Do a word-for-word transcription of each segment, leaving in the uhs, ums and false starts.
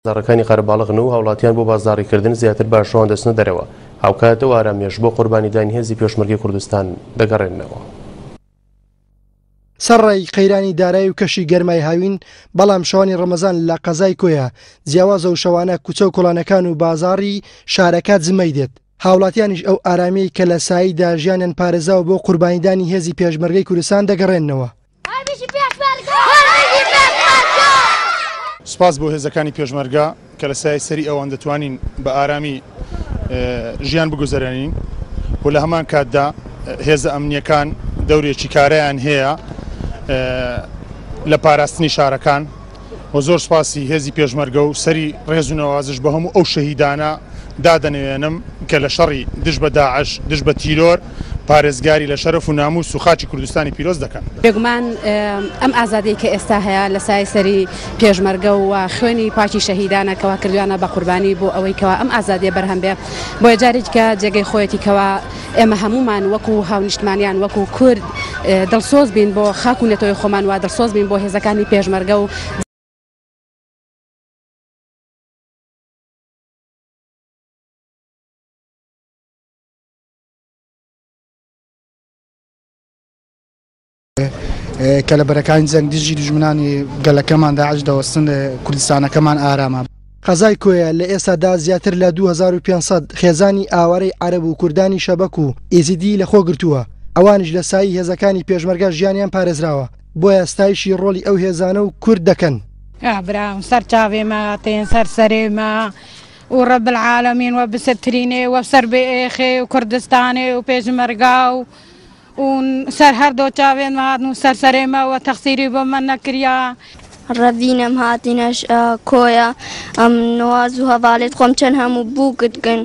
بازاڕەکانی قەرەباڵغن و هاوڵاتیان بۆ بازاڕیکردن زیاتر بە شەوان دەچنە دەرەوە، هاوکات ئەو ئارامیەش بۆ قوربانیدانی هێزی پێشمەرگەی کوردستان دەگەڕێننەوە. سەرڕای قەیرانی دارایی و کەشی گەرمای هاوین، بەڵام شەوانی ڕەمەزان لە قەزای کۆیە جیاوازە و شەوانە کوچە و کۆڵانەکان و بازاڕی شارەکە جمەی دێت. هاوڵاتیانیش ئەو ئارامیەی کە لە ساییدا ژیانیان پارێزاوە بۆ قوربانیدانی هێزی پێشمەرگەی کوردستان دەگەڕێننەوە. سپاس بۆ هێزەکانی پێشمەرگە کە لە سایەی سەری ئەوان دەتوانین بە ئارامی ژیان بگوزەرێنین و لە هەمان کاتدا هێزە ئەمنیەکان دەورێکی کارەیان هەیە لە پاراستنی شارەکان و زۆر سپاسی هێزی پێشمەرگە و سەری ڕێز و نەوازش بە هەموو ئەو شەهیدانە دادەنەوێنم کە لە شەڕی دژ بە داعش دژ بە تیرۆر پارێزگاری لە شەرەف و ناموس و خاکی کوردستانی پیرۆز دەکەن. بێگومان ئەم ئازادی کە ئێستا هەیە لە سای سەری پێشمەرگە و خوێنی پاکی شەهیدانە کەوا کردویانە بە قوربانی بۆ ئەوەی کەوا ئەم ئازادیە بەرهەم بێ، بۆیە جارێکە جێگەی خۆیەتی کەوا ئێمە هەمومان وەکو هاونیشتمانیان وەکو کورد دڵسۆز بین بۆ خاک و نەتەوەی خۆمان و دڵسۆز بین بۆ هێزەکانی پێشمەرگە و کە لە بەرەکانی جەنگ دژی دوژمنانی گەلەکەمان داعش دەوەستن، کوردستانەکەمان ئارامە. قەزای کۆیە لە ئێستادا زیاتر لە دوو هەزار و پێنج سەد خێزانی ئاوارەی عەرەب و کوردانی شەبەک و ئێزیدی لەخۆ گرتووە، ئەوانیش لە سایی هێزەکانی پێشمەرگە ژیانیان پارێزراوە، بۆیە ستایشی ڕۆڵی ئەو هێزانە و کورد دەکەن. برام سەر چاوێمە تێن سەر سەرێمە و رب العالمین و بسەترینێ و سەر بێخێ و کوردستانێ و پێشمەرگا و و سەر هەردوو چاوێن هاتن و سەر سەرێمە و تەخسیری بۆ من نەکریا. ڕەڤینەم هاتینەش کۆیە ئەم نواز و هەواڵێت خۆم چەند هەموو بووکتکن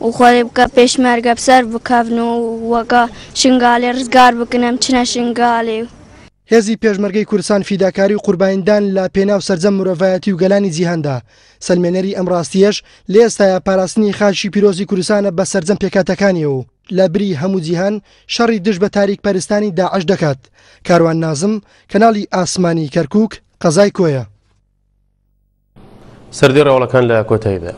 و خۆێ بکە پێشمەرگە بسەر بکەون و وەکە شنگالێ ڕزگار بکنم چنە شنگالێ. هێزی پێشمەرگەی کوردستان فیداکاری و قوربانیدان لە پێناو سەرجەم مرۆڤایەتی و گەلانی جیهاندا، سەلمێنەری ئەم ڕاستیەش لە ئێستایا پاراستنی خاکی پیرۆزی کوردستانە بە سەرجەم پێکهاتەکانیەوە و لە بری هەموو جیهان شەڕی دژ بە تاریک پەرستانی داعش دەکات. کاروان نازم، کەناڵی ئاسمانی کەرکووک، قەزای کۆیە. سەردی ڕەوڵەکان لە کۆتاییدا.